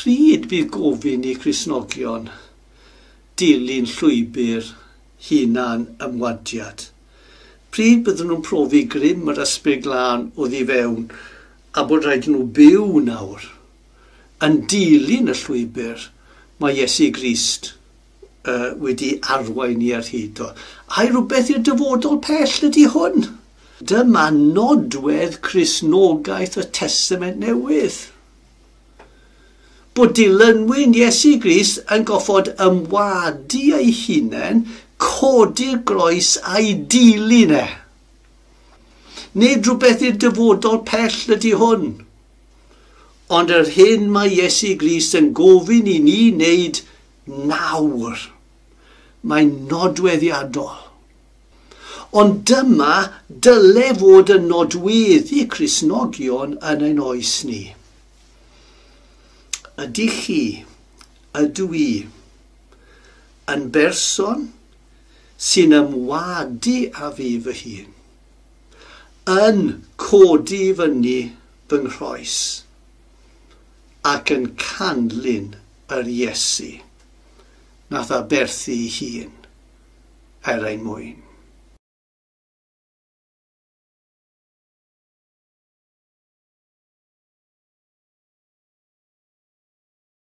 Pryd bydd gofyn i Cristnogion dilyn llwybr hunan ymwadiad? Pryd byddwn nhw'n profi grym yr Ysbryd Glân oddi fewn a bod rhaid nhw byw nawr yn dilyn y llwybr mae Iesu Grist wedi arwain ni ar hyd o? Ai rhywbeth i'r dyfodol pell ydy hwn? Dyma nodwedd Cristnogaeth y Testament Newydd. Bod dilynwyr Iesu Grist yn goffod ymwadu eu hunain, codi'r groes a'i dilyn e. Nid rhywbeth i'r dyfodol pell ydy hwn. Ond yr hyn mae Iesu Grist yn gofyn i ni wneud nawr, mae'n nodweddiadol. Ond dyma dyle fod yn nodweddu Cristnogion yn ein oes ni. Ydych chi, ydw i, yn berson sy'n ymwadu â fi fy hun, yn codi fyny fy nghroes ac yn canlyn yr Iesu nath aberthu ei hun er ein mwyn?